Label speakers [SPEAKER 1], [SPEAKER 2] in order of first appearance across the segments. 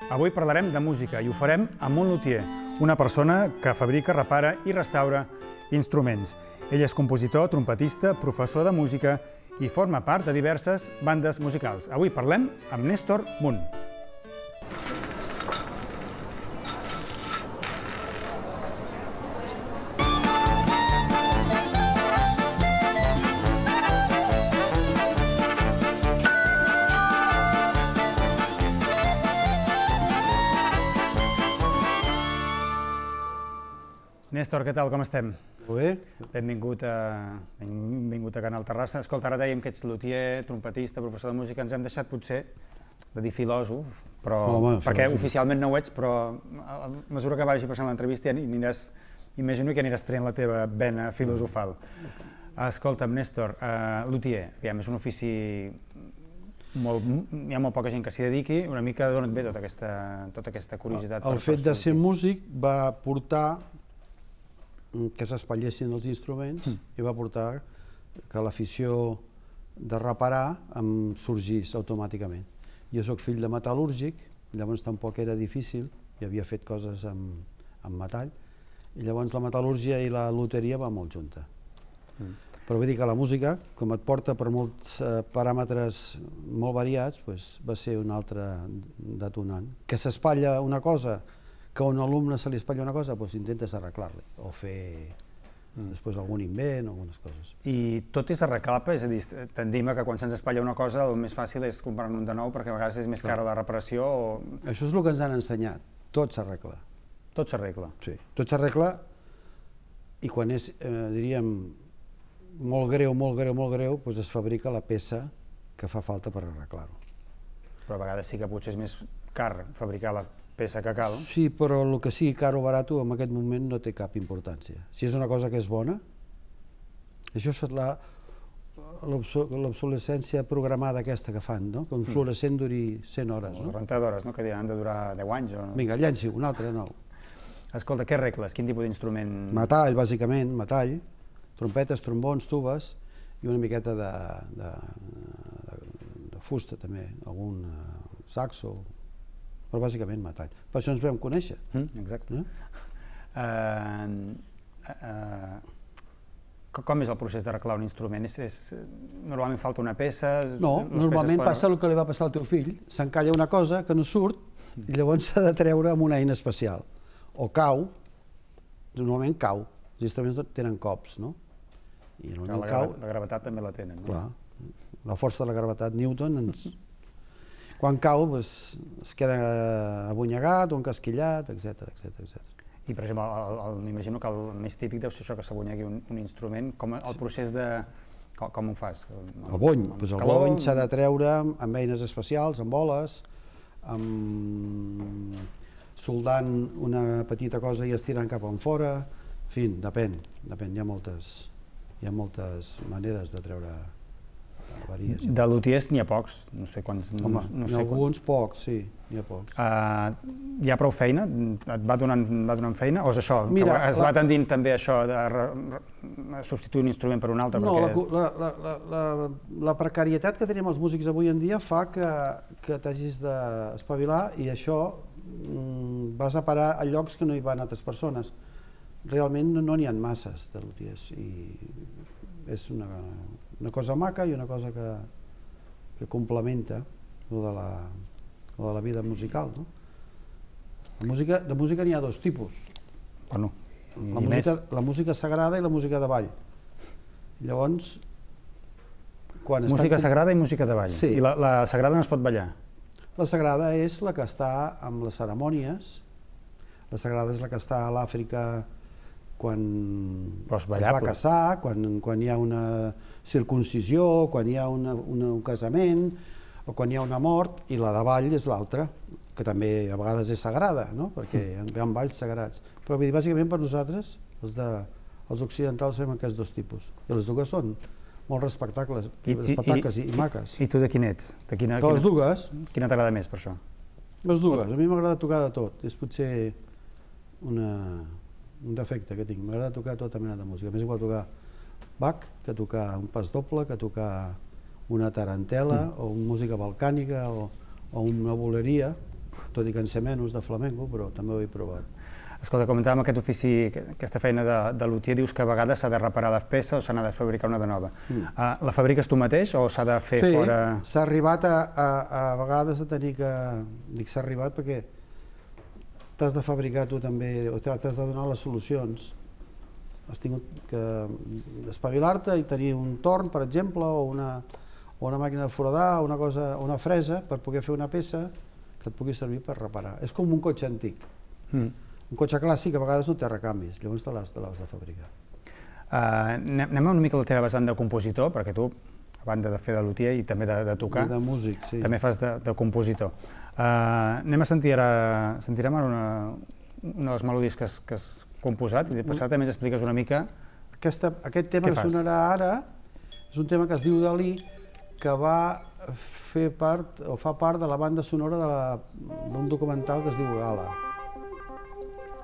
[SPEAKER 1] Avui parlarem de música i ho farem amb un luthier, una persona que fabrica, repara i restaura instruments. Ell és compositor, trompetista, professor de música i forma part de diverses bandes musicals. Avui parlem amb Néstor Munt. Néstor, què tal, com estem?
[SPEAKER 2] Molt bé.
[SPEAKER 1] Benvingut a Canal Terrassa. Escolta, ara dèiem que ets luthier, trompetista, professor de música. Ens hem deixat potser de dir filòsof, perquè oficialment no ho ets, però a mesura que vagi passant l'entrevista imagino que aniràs traient la teva vena filosofal. Escolta'm, Néstor, luthier, és un ofici... Hi ha molt poca gent que s'hi dediqui, una mica d'on et ve tota aquesta curiositat?
[SPEAKER 2] El fet de ser músic va portar que s'espatllessin els instruments i va portar que l'afició de reparar em sorgís automàticament. Jo soc fill de metal·lúrgic, llavors tampoc era difícil, i havia fet coses amb metall, i llavors la metal·lúrgia i la luteria va molt junta. Però vull dir que la música, com et porta per molts paràmetres molt variats, va ser un altre detonant. Que s'espatlla una cosa, que a un alumne se li espatlla una cosa, doncs intentes arreglar-li o fer després algun invent o algunes coses.
[SPEAKER 1] I tot és arreglable? És a dir, tendim a que quan se'ns espatlla una cosa el més fàcil és comprar-ne un de nou perquè a vegades és més cara la reparació o...
[SPEAKER 2] Això és el que ens han ensenyat. Tot s'arregla.
[SPEAKER 1] Tot s'arregla?
[SPEAKER 2] Sí. Tot s'arregla i quan és, diríem, molt greu, doncs es fabrica la peça que fa falta per arreglar-ho.
[SPEAKER 1] Però a vegades sí que potser és més car fabricar la peça que cal.
[SPEAKER 2] Sí, però el que sigui car o barat en aquest moment no té cap importància. Si és una cosa que és bona, això és l'obsolescència programada aquesta que fan, que un fluorescent duri 100 hores.
[SPEAKER 1] Les rentadores, que han de durar 10 anys.
[SPEAKER 2] Vinga, llenci, un altre nou.
[SPEAKER 1] Escolta, què arregles? Quin tipus d'instrument?
[SPEAKER 2] Metall, bàsicament, metall, trompetes, trombons, tubes i una miqueta de fusta també, algun saxo, però bàsicament metall. Per això ens vam conèixer.
[SPEAKER 1] Exacte. Com és el procés d'arreglar un instrument? Normalment falta una peça?
[SPEAKER 2] No, normalment passa el que li va passar al teu fill. S'encalla una cosa que no surt i llavors s'ha de treure amb una eina especial. O cau, normalment cau. Els instruments tenen cops, no?
[SPEAKER 1] La gravetat també la tenen.
[SPEAKER 2] Clar, la força de la gravetat, Newton, quan cau es queda abonyegat o encasquillat, etc.
[SPEAKER 1] I, per exemple, m'imagino que el més típic deu ser això, que s'abonyegui un instrument. El procés de... com ho fas?
[SPEAKER 2] El bony. El bony s'ha de treure amb eines especials, amb boles, soldant una petita cosa i estirant cap enfora. En fi, depèn. Hi ha moltes maneres de treure avaries.
[SPEAKER 1] De luthiers n'hi ha pocs, no sé quants...
[SPEAKER 2] Home, n'hi ha alguns pocs, sí, n'hi ha pocs.
[SPEAKER 1] Hi ha prou feina? Et va donant feina? O és això? Es va tendint també això de substituir un instrument per un altre?
[SPEAKER 2] No, la precarietat que tenim els músics avui en dia fa que t'hagis d'espavilar i això vas a parar a llocs que no hi van altres persones. Realment no n'hi ha masses de luthiers i és una cosa maca i una cosa que complementa de la vida musical. De música n'hi ha dos tipus. La música sagrada i la música de ball. Llavors...
[SPEAKER 1] Música sagrada i música de ball. I la sagrada no es pot ballar?
[SPEAKER 2] La sagrada és la que està amb les cerimònies. La sagrada és la que està a l'Àfrica quan es va casar, quan hi ha una circuncisió, quan hi ha un casament, o quan hi ha una mort, i la de ball és l'altra, que també a vegades és sagrada, perquè hi ha balls sagrats. Però bàsicament per nosaltres, els occidentals, fem aquests dos tipus. I les dues són molt respectables i maques.
[SPEAKER 1] I tu de quin ets?
[SPEAKER 2] De les dues.
[SPEAKER 1] Quina t'agrada més per això?
[SPEAKER 2] Les dues. A mi m'agrada tocar de tot. És potser un defecte que tinc. M'agrada tocar tota mena de música. M'és igual tocar Bach que tocar un pas doble, que tocar una tarantela o una música balcànica o una boleria. tot i que en sé menys de flamenco, però també ho he provat.
[SPEAKER 1] Escolta, comentàvem aquest ofici, aquesta feina de luthier, dius que a vegades s'ha de reparar les peces o s'ha de fabricar una de nova. La fabriques tu mateix o s'ha de fer fora?
[SPEAKER 2] Sí, s'ha arribat a vegades a tenir que... Dic s'ha arribat perquè t'has de fabricar tu també, o t'has de donar les solucions. Has tingut que espavilar-te i tenir un torn, per exemple, o una màquina de foradar, una fresa, per poder fer una peça que et pugui servir per reparar. És com un cotxe antic. Un cotxe clàssic a vegades no té recanvis, llavors te l'has de fabricar.
[SPEAKER 1] Anem una mica a la teva vessant de compositor, perquè tu, a banda de fer de luthier i també de tocar,
[SPEAKER 2] de músic, sí.
[SPEAKER 1] També fas de compositor. Anem a sentir ara, sentirem ara una de les melodies que has composat i després també ens expliques una mica
[SPEAKER 2] aquest tema que sonarà ara és un tema que es diu Dalí, que va fer part, o fa part de la banda sonora d'un documental que es diu Gala.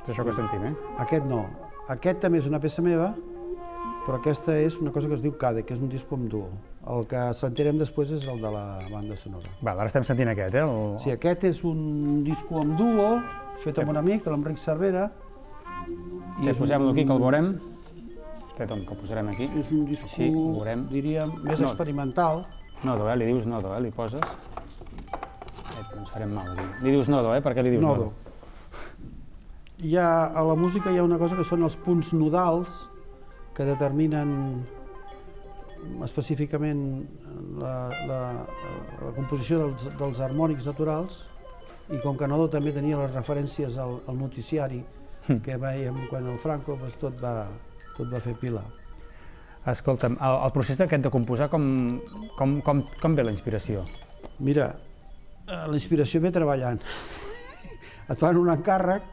[SPEAKER 1] És això que sentim,
[SPEAKER 2] Aquest no. Aquest també és una peça meva, però aquesta és una cosa que es diu Cade, que és un disc en duo. El que sentirem després és el de la banda sonora.
[SPEAKER 1] Val, ara estem sentint aquest,
[SPEAKER 2] Sí, aquest és un disc en duo, fet amb un amic, l'Enric Cervera.
[SPEAKER 1] Posem-lo aquí, que el veurem. Que el posarem aquí.
[SPEAKER 2] És un disc, diríem, més experimental.
[SPEAKER 1] Nodo, li dius nodo, li poses. Ens farem mal aquí. Li dius nodo, per què li dius nodo?
[SPEAKER 2] A la música hi ha una cosa que són els punts nodals que determinen específicament la composició dels harmònics naturals, i com que Nodo també tenia les referències al noticiari que veiem quan el Franco, tot va fer pila.
[SPEAKER 1] Escolta'm, el procés aquest de composar, com ve la inspiració?
[SPEAKER 2] Mira, la inspiració ve treballant. Et fan un encàrrec,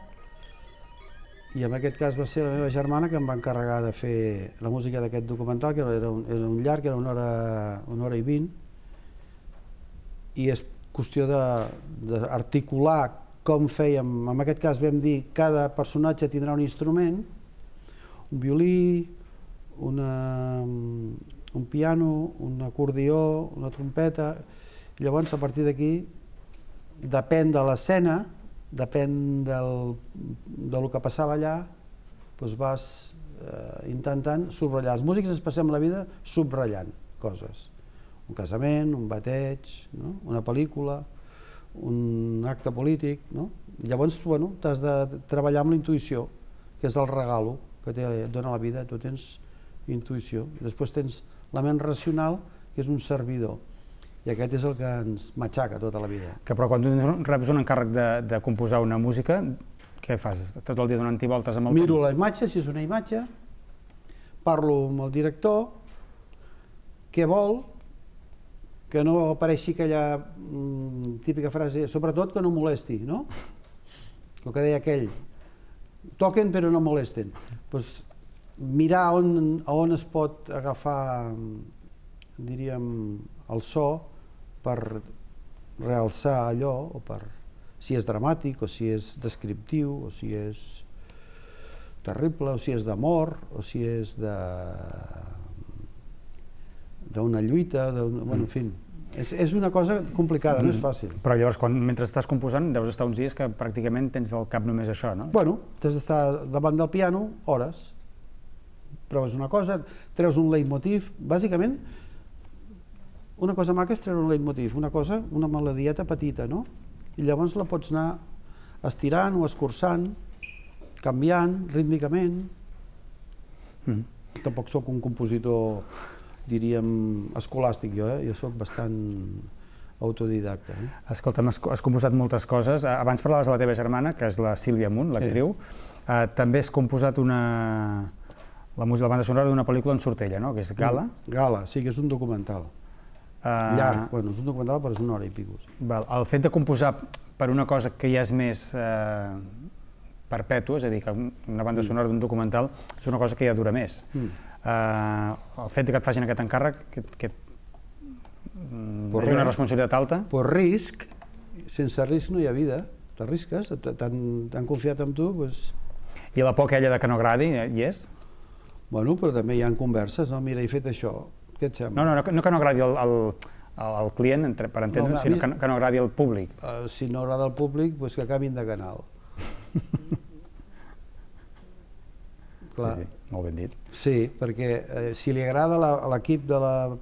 [SPEAKER 2] i en aquest cas va ser la meva germana que em va encarregar de fer la música d'aquest documental, que era un llarg, era una hora i 20, i és qüestió d'articular com fèiem. En aquest cas vam dir que cada personatge tindrà un instrument, un violí, un piano, un acordió, una trompeta, i llavors a partir d'aquí depèn de l'escena, depèn del que passava allà, doncs vas intentant subratllar. Els músics ens passem la vida subratllant coses. Un casament, un bateig, una pel·lícula, un acte polític. Llavors, t'has de treballar amb la intuïció, que és el regalo que et dona la vida. Tu tens intuïció. Després tens la ment racional, que és un servidor. I aquest és el que ens matxaca tota la vida.
[SPEAKER 1] Però quan tu reps un encàrrec de composar una música, què fas? Tot el dia donant-hi voltes amb el...
[SPEAKER 2] Miro la imatge, si és una imatge, parlo amb el director, què vol, que no apareixi aquella típica frase, sobretot que no molesti, no? El que deia aquell, toquen però no molesten. Mirar on es pot agafar, diríem, el so, per realçar allò, o si és dramàtic, o si és descriptiu, o si és terrible, o si és d'amor, o si és d'una lluita, en fi. És una cosa complicada, no és fàcil.
[SPEAKER 1] Però llavors, mentre estàs composant, deus estar uns dies que pràcticament tens al cap només això, no?
[SPEAKER 2] Bueno, t'has d'estar davant del piano hores, proves una cosa, treus un leitmotiv, bàsicament. Una cosa maca és treure un leitmotiv, una melodieta petita, no? I llavors la pots anar estirant o escurçant, canviant rítmicament. Tampoc sóc un compositor, diríem, escolàstic jo, jo sóc bastant autodidacta.
[SPEAKER 1] Escolta'm, has composat moltes coses. Abans parlaves de la teva germana, que és la Sílvia Munt, l'actriu. També has composat la banda sonora d'una pel·lícula en surt ella, no? Que és Gala.
[SPEAKER 2] Gala, sí, que és un documental. Llarg, bueno, és un documental però és una hora i pico.
[SPEAKER 1] El fet de composar per una cosa que ja és més perpètua, és a dir, que una banda sonora d'un documental és una cosa que ja dura més. El fet que et facin aquest encàrrec, que és una responsabilitat alta.
[SPEAKER 2] Per risc, sense risc no hi ha vida, t'arrisques, t'han confiat en tu.
[SPEAKER 1] I la por aquella de que no agradi, hi és?
[SPEAKER 2] Bueno, però també hi ha converses, no? Mira, he fet això.
[SPEAKER 1] No que no agradi al client, per entendre, sinó que no agradi al públic.
[SPEAKER 2] Si no agrada al públic, doncs que canviïn de canal.
[SPEAKER 1] Sí, molt ben dit.
[SPEAKER 2] Sí, perquè si li agrada a l'equip de la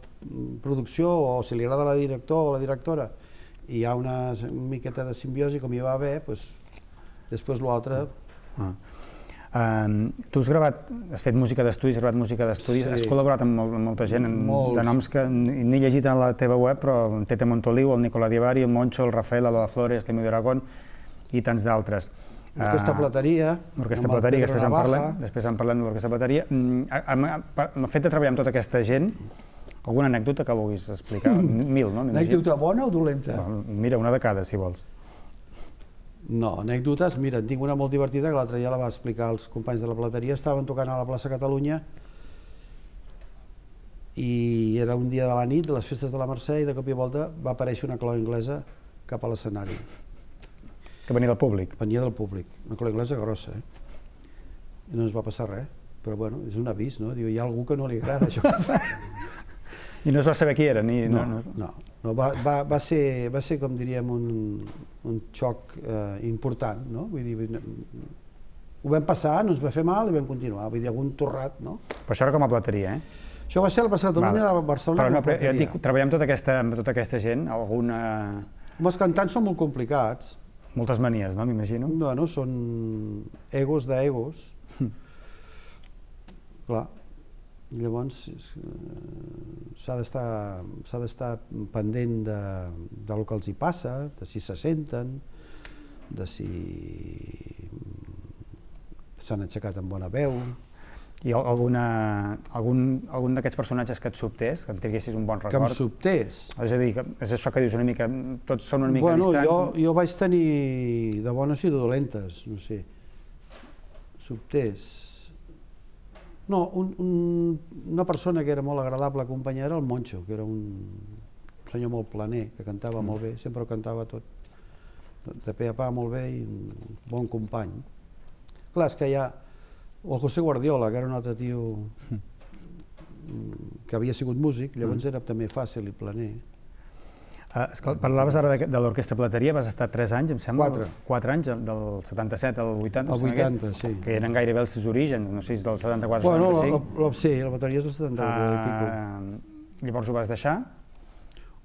[SPEAKER 2] producció o si li agrada a la director o la directora i hi ha una miqueta de simbiosi com hi va haver, doncs després l'altre...
[SPEAKER 1] Tu has fet música d'estudis, has gravat música d'estudis, has col·laborat amb molta gent, de noms que n'he llegit a la teva web, però en Tete Montoliu, el Nicola Divari, el Moncho, el Rafael, el Lola Flores, l'Emilio Aragón i tants d'altres.
[SPEAKER 2] L'Orquestra Plateria,
[SPEAKER 1] després en parlem de l'Orquestra Plateria. El fet de treballar amb tota aquesta gent, alguna anècdota que vulguis explicar? Mil, no?
[SPEAKER 2] Anècdota bona o dolenta?
[SPEAKER 1] Mira, una de cada, si vols.
[SPEAKER 2] No, anècdotes, mira, en tinc una molt divertida que l'altre dia la va explicar als companys de la Plateria. Estaven tocant a la plaça Catalunya i era un dia de la nit, de les festes de la Mercè, i de cop i volta va aparèixer una clau anglesa cap a l'escenari.
[SPEAKER 1] Que venia del públic?
[SPEAKER 2] Venia del públic, una clau anglesa grossa, I no ens va passar res, però bueno, és un avís, no? Diu, hi ha algú que no li agrada això que fa.
[SPEAKER 1] I no es va saber qui era?
[SPEAKER 2] No, va ser, com diríem, un xoc important, no? Vull dir, ho vam passar, no ens va fer mal i vam continuar, vull dir, algun torrat, no?
[SPEAKER 1] Però això era com a Plateria,
[SPEAKER 2] Això va ser a la plaça Catalunya de Barcelona.
[SPEAKER 1] Però no, jo dic, treballar amb tota aquesta gent, alguna...
[SPEAKER 2] Els cantants són molt complicats.
[SPEAKER 1] Moltes manies, no, m'imagino?
[SPEAKER 2] Bueno, són egos d'egos. Clar. Llavors s'ha d'estar pendent del que els hi passa, de si se senten, de si s'han aixecat amb bona veu.
[SPEAKER 1] I algun d'aquests personatges que et sobtés, que et tinguessis un bon record?
[SPEAKER 2] Que em sobtés?
[SPEAKER 1] És a dir, és això que dius una mica, tots són una mica distants?
[SPEAKER 2] Bueno, jo vaig tenir de bones i de dolentes, no sé. Sobtés... No, una persona que era molt agradable acompanyar era el Moncho, que era un senyor molt planer, que cantava molt bé, sempre ho cantava tot de pe a pa molt bé i un bon company. Clar, és que hi ha el José Guardiola, que era un altre tio que havia sigut músic, llavors era també fàcil i planer.
[SPEAKER 1] Parlaves ara de l'Orquestra Plateria, vas estar 3 anys, em sembla?
[SPEAKER 2] 4
[SPEAKER 1] anys, del 77 al 80?
[SPEAKER 2] Al 80, sí.
[SPEAKER 1] Que eren gairebé els seus orígens, no sé si del 74 al 75.
[SPEAKER 2] Sí, la bateria és del 78 i pico.
[SPEAKER 1] Llavors ho vas deixar?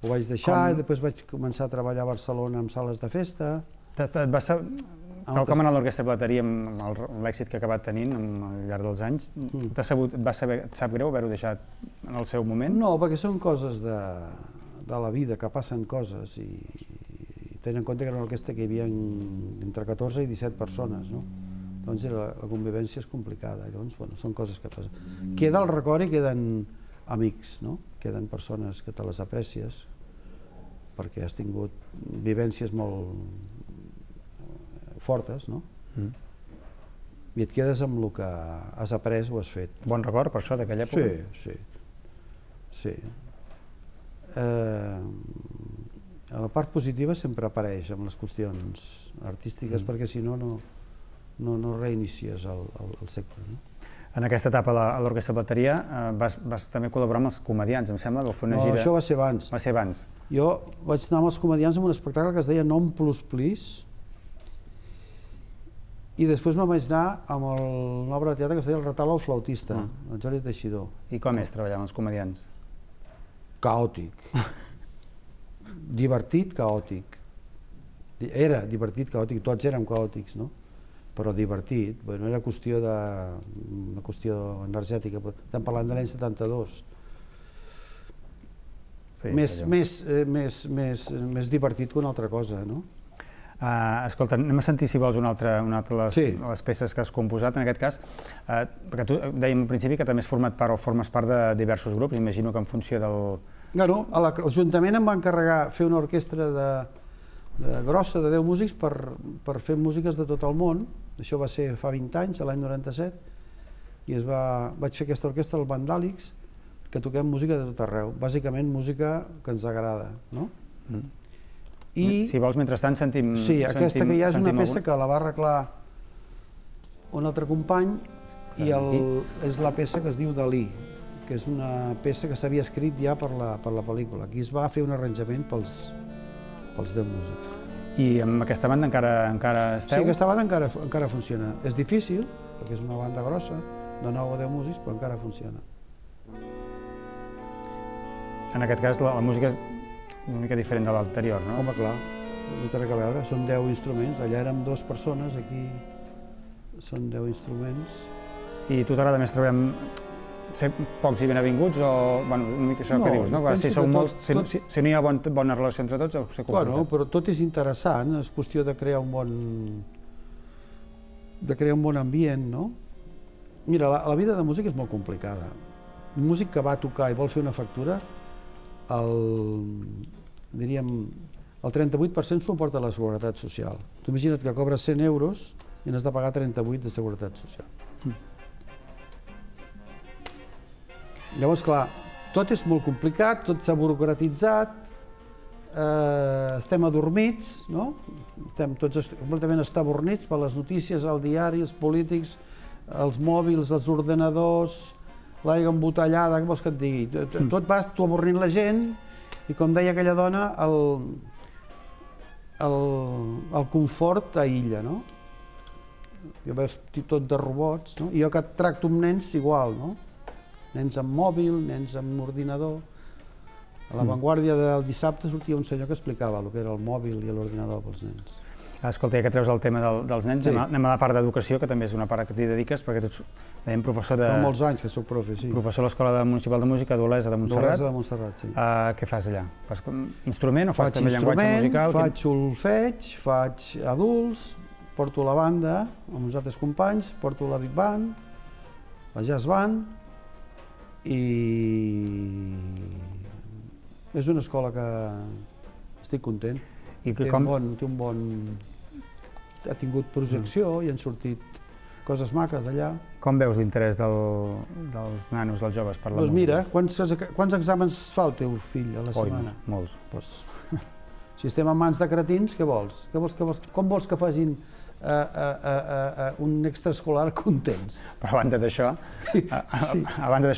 [SPEAKER 2] Ho vaig deixar i després vaig començar a treballar a Barcelona en sales de festa.
[SPEAKER 1] Tal com en l'Orquestra Plateria, amb l'èxit que ha acabat tenint al llarg dels anys, et sap greu haver-ho deixat en el seu moment?
[SPEAKER 2] No, perquè són coses de la vida, que passen coses i tenen en compte que era una orquestra que hi havia entre 14 i 17 persones, no? Doncs la convivència és complicada, llavors, bueno, són coses que passen. Queda el record i queden amics, no? Queden persones que te les aprecies perquè has tingut vivències molt fortes, no? I et quedes amb el que has après o has fet.
[SPEAKER 1] Bon record per això d'aquella època?
[SPEAKER 2] Sí. La part positiva sempre apareix amb les qüestions artístiques perquè si no, no reinicies el segle.
[SPEAKER 1] En aquesta etapa a l'Orquestra Plateria vas també col·laborar amb els comedians, em sembla, que fer una gira...
[SPEAKER 2] No, això va ser abans.
[SPEAKER 1] Va ser abans.
[SPEAKER 2] Jo vaig anar amb els comedians en un espectacle que es deia Non Plus Plis i després me'n vaig anar amb una obra de teatre que es deia El Retal al flautista, el Jordi Teixidor.
[SPEAKER 1] I com és treballar amb els comedians?
[SPEAKER 2] Caòtic. Divertit, caòtic. Era divertit, caòtic, tots érem caòtics, no? Però divertit, bueno, era una qüestió energètica. Estem parlant de l'any 72. Més divertit que una altra cosa, no?
[SPEAKER 1] Escolta, anem a sentir, si vols, una altra de les peces que has composat, en aquest cas, perquè tu dèiem al principi que també has format part o formes part de diversos grups, imagino que en funció del...
[SPEAKER 2] L'Ajuntament em va encarregar fer una orquestra grossa de 10 músics per fer músiques de tot el món, això va ser fa 20 anys, l'any 97, i vaig fer aquesta orquestra, el Vandàlics, que toquem música de tot arreu, bàsicament música que ens agrada, no?
[SPEAKER 1] Si vols, mentrestant, sentim...
[SPEAKER 2] Sí, aquesta que hi ha és una peça que la va arreglar un altre company i és la peça que es diu Dalí, que és una peça que s'havia escrit ja per la pel·lícula. Aquí es va fer un arranjament pels 10 músics.
[SPEAKER 1] I amb aquesta banda encara esteu?
[SPEAKER 2] Sí, aquesta banda encara funciona. És difícil, perquè és una banda grossa, de 9 o 10 músics, però encara funciona.
[SPEAKER 1] En aquest cas, la música és una mica diferent de l'anterior, no?
[SPEAKER 2] Home, clar, no té res a veure. Són 10 instruments. Allà érem 2 persones, aquí són 10 instruments.
[SPEAKER 1] I a tu t'agrada més treballar amb ser pocs i ben avinguts o, bueno, una mica això que dius, no? Si sou molts, si no hi ha bona relació entre tots, deu ser complicat.
[SPEAKER 2] Bueno, però tot és interessant, és qüestió de crear un bon ambient, no? Mira, la vida de músic és molt complicada. Un músic que va tocar i vol fer una factura, diríem, el 38% s'ho porta a la Seguretat Social. Tu imagina't que cobres 100 euros i n'has de pagar 38 de Seguretat Social. Llavors, clar, tot és molt complicat, tot s'ha burocratitzat, estem adormits, no? Estem tots completament estabornits per les notícies, el diari, els polítics, els mòbils, els ordenadors, l'aigua embotellada, què vols que et digui? Tot vas tu avorrint la gent i, com deia aquella dona, el confort aïlla, no? Jo veus tot de robots, no? I jo que tracto amb nens igual, no? Nens amb mòbil, nens amb ordinador. A l'avantguàrdia del dissabte sortia un senyor que explicava el que era el mòbil i l'ordinador pels nens.
[SPEAKER 1] Escolta, ja que treus el tema dels nens, anem a la part d'educació, que també és una part que t'hi dediques, perquè tu ets, dèiem, professor de...
[SPEAKER 2] Fa molts anys que soc profe, sí.
[SPEAKER 1] Professor a l'Escola Municipal de Música d'Olesa de Montserrat.
[SPEAKER 2] D'Olesa de Montserrat, sí.
[SPEAKER 1] Què fas allà? Fas instrument o fas també llenguatge musical?
[SPEAKER 2] Faig solfeig, faig adults, porto la banda amb uns altres companys, porto la big band, la jazz band, i és una escola que estic content. Ha tingut projecció i han sortit coses maques d'allà.
[SPEAKER 1] Com veus l'interès dels nanos, dels joves per la música?
[SPEAKER 2] Doncs mira, quants exàmens fa el teu fill a la setmana?
[SPEAKER 1] Molts.
[SPEAKER 2] Si estem en mans de cretins, què vols? Com vols que facin un extraescolar contents?
[SPEAKER 1] Però a banda d'això,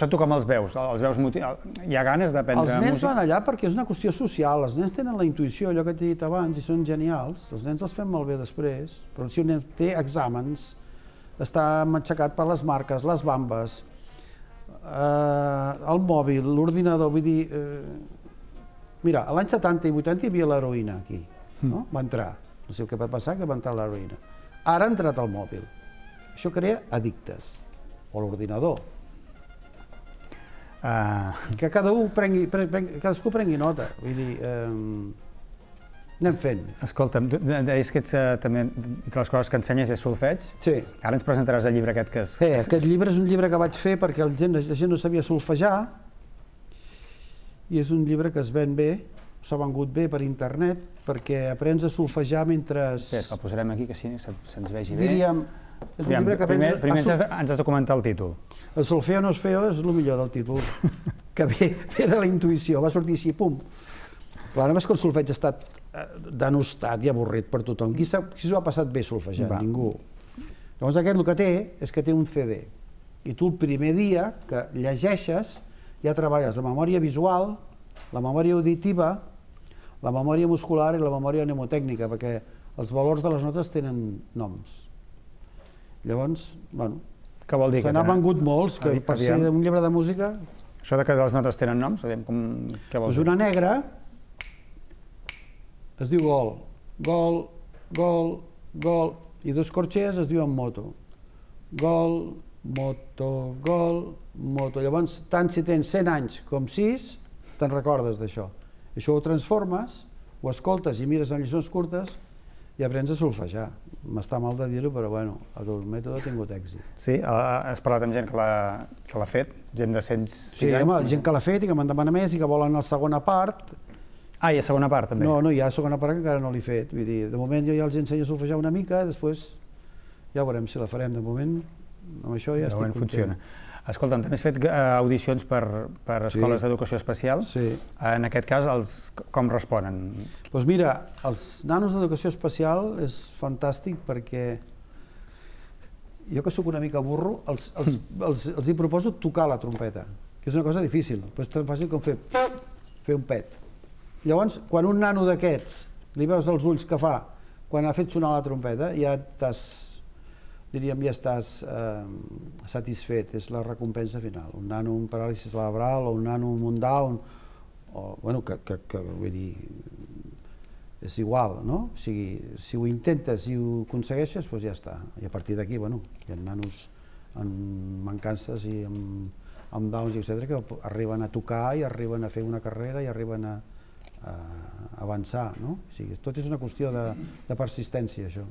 [SPEAKER 1] tu com els veus? Hi ha ganes d'aprendre música?
[SPEAKER 2] Els nens van allà perquè és una qüestió social, els nens tenen la intuïció, allò que t'he dit abans, i són genials, els nens els fem malbé després, però si un nen té exàmens, està matxacat per les marques, les bambes, el mòbil, l'ordinador, vull dir... Mira, a l'any 70 i 80 hi havia l'heroïna aquí, va entrar, no sé què va passar, que va entrar l'heroïna. Ara ha entrat el mòbil. Això crea addictes, o l'ordinador. Que cadascú prengui nota, vull dir, anem fent.
[SPEAKER 1] Escolta'm, deies que també, entre les coses que ensenyes és solfeig.
[SPEAKER 2] Sí.
[SPEAKER 1] Ara ens presentaràs el llibre aquest que és...
[SPEAKER 2] Sí, aquest llibre és un llibre que vaig fer perquè la gent no sabia solfejar, i és un llibre que es ven bé, s'ha vengut bé per internet, perquè aprens a solfejar mentre...
[SPEAKER 1] Bé, el posarem aquí, que se'ns vegi bé.
[SPEAKER 2] Diríem, és un llibre que aprens...
[SPEAKER 1] Primer ens has de comentar el títol.
[SPEAKER 2] El solfeo no és feo, és el millor del títol, que ve de la intuïció, va sortir així, pum. Clar, només que el solfeig ha estat denostat i avorrit per tothom. Qui s'ho ha passat bé solfejant? Ningú. Llavors aquest el que té és que té un CD, i tu el primer dia que llegeixes ja treballes la memòria visual, la memòria auditiva, la memòria muscular i la memòria mnemotècnica, perquè els valors de les notes tenen noms. Llavors, bueno, se n'ha vengut molts, que per ser un llibre de música...
[SPEAKER 1] Això que les notes tenen noms, sabem què vols dir?
[SPEAKER 2] Una negra es diu gol, gol, gol, gol, i dos corxers es diuen moto. Gol, moto, gol, moto. Llavors, tant si tens 100 anys com 6, te'n recordes d'això. Això ho transformes, ho escoltes i mires en lliçons curtes i aprens a solfejar. M'està mal de dir-ho, però bueno, el mètode ha tingut èxit.
[SPEAKER 1] Sí, has parlat amb gent que l'ha fet, gent de 106 anys?
[SPEAKER 2] Sí, home, gent que l'ha fet i que me'n demana més i que volen la segona part.
[SPEAKER 1] Ah, hi ha segona part també?
[SPEAKER 2] No, hi ha segona part que encara no l'he fet. Vull dir, de moment jo ja els ensenyo a solfejar una mica, després ja veurem si la farem. De moment, amb això ja estic content.
[SPEAKER 1] Escolta'm, també has fet audicions per escoles d'educació especial.
[SPEAKER 2] Sí.
[SPEAKER 1] En aquest cas, com responen?
[SPEAKER 2] Doncs mira, els nanos d'educació especial és fantàstic perquè jo que sóc una mica burro, els hi proposo tocar la trompeta, que és una cosa difícil, però és tan fàcil com fer un pet. Llavors, quan un nano d'aquests li veus els ulls que fa quan ha fet sonar la trompeta, ja estàs satisfet, és la recompensa final. Un nano amb paràlisi cerebral o un nano amb un Down, vull dir, és igual, no? O sigui, si ho intentes i ho aconsegueixes, doncs ja està. I a partir d'aquí, bueno, hi ha nanos amb mancances i amb Downs, etc., que arriben a tocar i arriben a fer una carrera i arriben a avançar, no? O sigui, tot és una qüestió de persistència, això.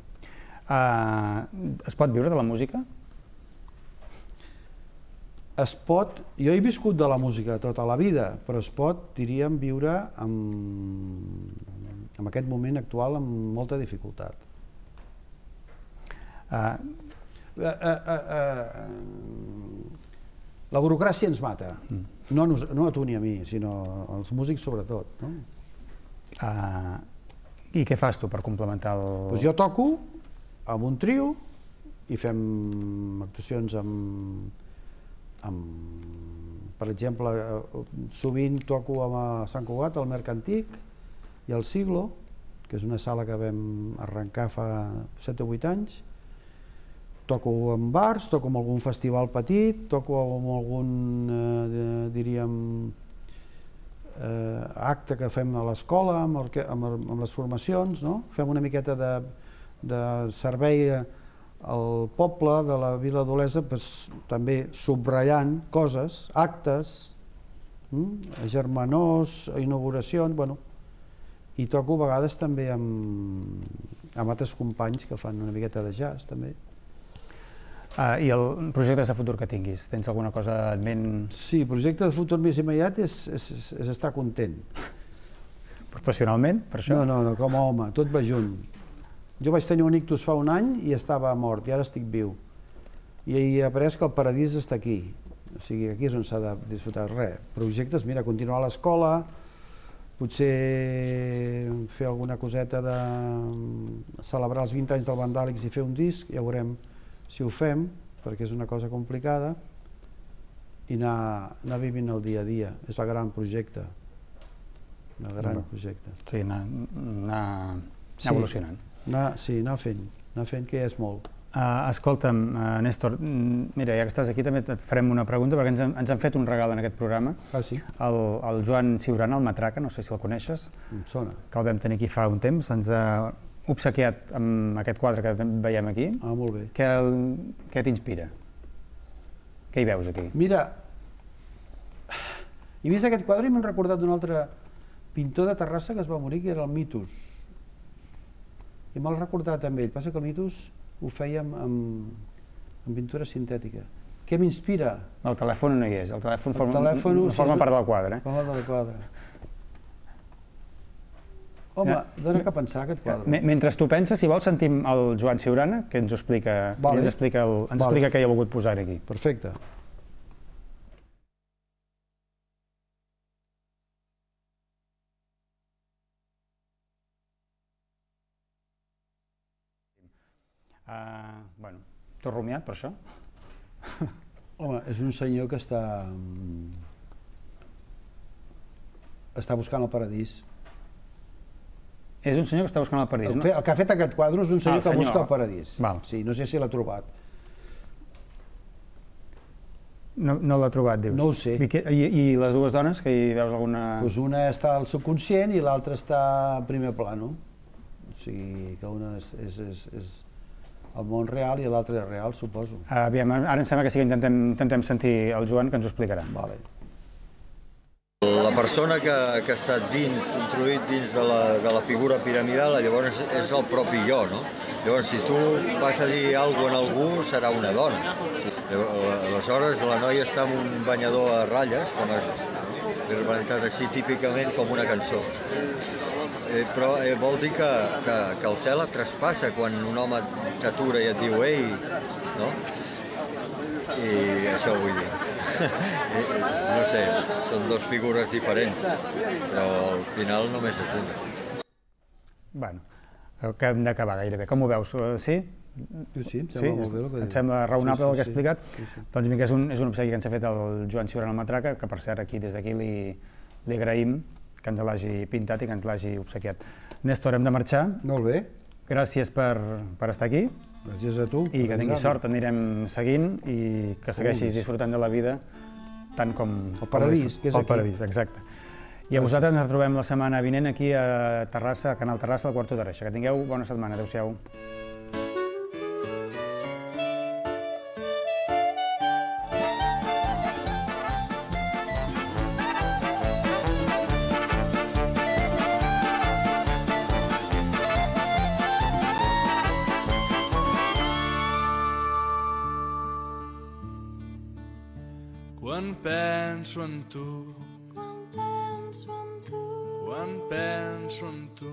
[SPEAKER 1] Es pot viure de la música?
[SPEAKER 2] Es pot, jo he viscut de la música tota la vida, però es pot, diríem, viure en aquest moment actual amb molta dificultat. La burocràcia ens mata, no a tu ni a mi, sinó als músics sobretot.
[SPEAKER 1] I què fas tu per complementar el...
[SPEAKER 2] Jo toco amb un trio i fem actuacions per exemple, sovint toco a Sant Cugat, al Mercantic i al Siglo, que és una sala que vam arrencar fa 7 o 8 anys. Toco en bars, toco en algun festival petit, toco en algun, diríem, acte que fem a l'escola, amb les formacions, no? Fem una miqueta de servei al poble de la Vila d'Olesa, també subratllant coses, actes, germanors, inauguracions, bueno, i toco a vegades també amb altres companys que fan una miqueta de jazz, també.
[SPEAKER 1] I el projecte de futur que tinguis? Tens alguna cosa en ment?
[SPEAKER 2] Sí, el projecte de futur més immediat és estar content.
[SPEAKER 1] Professionalment, per això?
[SPEAKER 2] No, com a home, tot va junt. Jo vaig tenir un ictus fa un any i estava mort, i ara estic viu. I he après que el paradís està aquí. O sigui, aquí és on s'ha de disfrutar res. Projectes, mira, continuar a l'escola, potser fer alguna coseta de celebrar els 20 anys del Vandàlics i fer un disc, ja veurem si ho fem, perquè és una cosa complicada, i anar vivint el dia a dia. És el gran projecte. El gran projecte.
[SPEAKER 1] Sí, anar evolucionant.
[SPEAKER 2] Sí, anar fent, que ja és molt.
[SPEAKER 1] Escolta'm, Néstor, mira, ja que estàs aquí també et farem una pregunta, perquè ens han fet un regal en aquest programa.
[SPEAKER 2] Ah, sí?
[SPEAKER 1] El Joan Ciurana, el Matraca, no sé si el coneixes.
[SPEAKER 2] Em sona. Que
[SPEAKER 1] el vam tenir aquí fa un temps, ens ha obsequiat amb aquest quadre que veiem aquí.
[SPEAKER 2] Ah, molt bé.
[SPEAKER 1] Què t'inspira? Què hi veus aquí?
[SPEAKER 2] Mira, he vist aquest quadre i m'han recordat d'un altre pintor de Terrassa que es va morir, que era el Mitos. I me'l recordat amb ell. Passa que el Mitos ho feia amb pintura sintètica. Què m'inspira?
[SPEAKER 1] El telèfon no hi és, el telèfon forma part del quadre.
[SPEAKER 2] Forma part del quadre. Home, dona que pensar aquest quadre.
[SPEAKER 1] Mentre tu penses, si vols, sentim el Joan Ciurana, que ens explica què hi ha volgut posar aquí.
[SPEAKER 2] Perfecte.
[SPEAKER 1] Bueno, t'ho has rumiat per això?
[SPEAKER 2] Home, és un senyor que està buscant el paradís.
[SPEAKER 1] És un senyor que està buscant el paradís, no?
[SPEAKER 2] El que ha fet aquest quadre és un senyor que busca el paradís.
[SPEAKER 1] Sí,
[SPEAKER 2] no sé si l'ha trobat.
[SPEAKER 1] No l'ha trobat, dius?
[SPEAKER 2] No ho sé.
[SPEAKER 1] I les dues dones, que hi veus alguna...
[SPEAKER 2] Doncs una està al subconscient i l'altra està en primer plano. O sigui, que una és el món real i l'altre és real, suposo.
[SPEAKER 1] Aviam, ara em sembla que sí que intentem sentir el Joan, que ens ho explicarà.
[SPEAKER 2] Vale.
[SPEAKER 3] La persona que ha estat introduït dins de la figura piramidal, llavors és el propi jo, no? Llavors, si tu vas a dir alguna cosa a algú, serà una dona. Aleshores, la noia està amb un banyador a ratlles, com és representat així típicament com una cançó. Però vol dir que el cel et traspassa quan un home t'atura i et diu «Ei», no? I això vull dir. No sé, són dues figures diferents, però al final només és una.
[SPEAKER 1] Bueno, que hem d'acabar gairebé. Com ho veus? Sí?
[SPEAKER 2] Sí, em sembla molt bé el que
[SPEAKER 1] et sembla raonable el que he explicat?
[SPEAKER 2] Sí.
[SPEAKER 1] Doncs vinga, és un obsequi que ens ha fet el Joan Ciurana al Matraca, que per cert des d'aquí li agraïm que ens l'hagi pintat i que ens l'hagi obsequiat. Néstor, hem de marxar.
[SPEAKER 2] Molt bé.
[SPEAKER 1] Gràcies per estar aquí.
[SPEAKER 2] Gràcies a tu.
[SPEAKER 1] I que tinguis sort, anirem seguint i que segueixis disfrutant de la vida tant com...
[SPEAKER 2] El paradís, que és aquí.
[SPEAKER 1] El paradís, exacte. I a vosaltres ens trobem la setmana vinent aquí a Terrassa, a Canal Terrassa, al Quarto d'Arreixa. Que tingueu bona setmana. Adéu-siau.
[SPEAKER 4] Quan penso en tu, quan penso en tu,